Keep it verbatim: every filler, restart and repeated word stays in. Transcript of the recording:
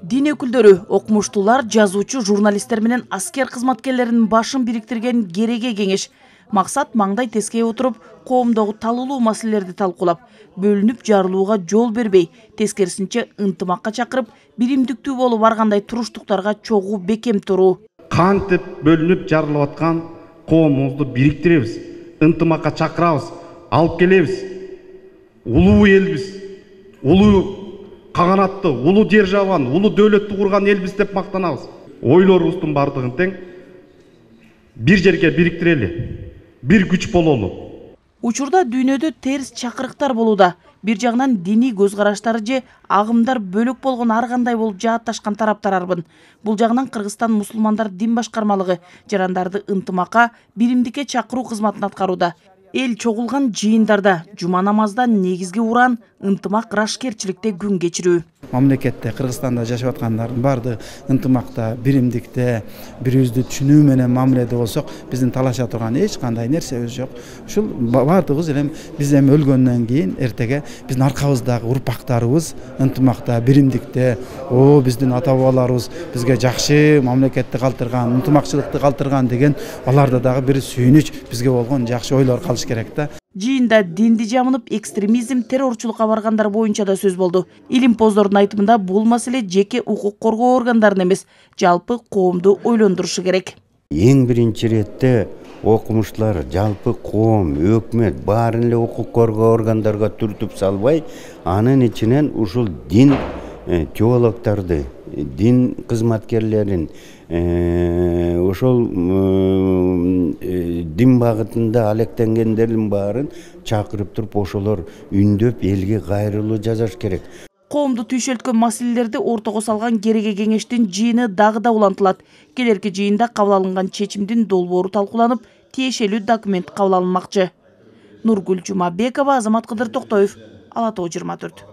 Дин өкүлдөрү, окумуштуулар, жазуучу, журналисттер менен аскер кызматкерлеринин башын бириктирген кереге кеңеш. Максат маңдай тескей отуруп, коомдогу талуулуу маселелерди талкуулап, бөлүнүп жарылууга жол бербей, тескерисинче ынтымакка чакырып, биримдиктүү болуп баргандай туруштуктарга чогуу бекем туруу. Кантип бөлүнүп жарылып аткан коомубузду бириктиребиз, ынтымакка чакырабыз, алып келебиз. Улуу элбиз, улуу каганатты, улуу державаны, улуу дөөлөттү курган элбиз деп мактанабыз. Ойлорубуздун бардыгын тең бир жерге бириктирели, бир күч бололу. Учурда дүйнөдө терс чакырыктар болууда. Бир жагынан диний көз караштары же агымдар бөлөк болгон ар кандай болуп жаатташкан тараптар арбын. Бул жагынан Кыргызстан мусулмандар дин башкармалыгы жарандарды ынтымакка, биримдикке чакыруу кызматын аткарууда. Эл чогулган жыйындарда жума намазда негизги уран ынтымак, рашкерчиликте күн кечирүү. Мамлекетте, Кыргызстанда жашап аткандардын баардыгы ынтымакта, биримдикте, бири-бирибизди түшүнүү менен мамиледе болсок, биздин талаша турган эч кандай нерсебиз жок. Ушул баардыгыбыз эле биз эми өлгөндөн кийин эртеге биздин аркабыздагы урпактарыбыз ынтымакта, биримдикте, о биздин ата бабаларыбыз бизге жакшы мамлекетти калтырган, ынтымакчылыкты калтырган деген аларда дагы бир сүйүнүч, бизге болгон жакшы ойлор калыш керек да. Жыйында динди жамынып, экстремизм, террорчулукка баргандар боюнча да сөз болду. Илимпоздордун айтымында бул маселе жеке укук коргоо органдарынын эмес, жалпы коомду ойлондурушу керек. Эң биринчи иретте окумуштуулар, жалпы коом, өкмөт баарын эле укук коргоо органдарга түртүп салбай, анын ичинен ушул дин теологдорду, дин кызматкерлерин, ошол дин багытында алектенгендердин баарын чакырып туруп, ошолор үндөп элге кайрылуу жасаш керек. Коомду түйшөлткөн маселелерди ортого салган кереге кеңештин жыйыны дагы да улантылат. Келерки жыйында кабыл алынган чечимдин долбоору талкууланып, тиешелүү документ кабыл алынмакчы. Нургүл Жумабекова, Азамат Кыдыр Токтоев, Ала Тоо жыйырма төрт.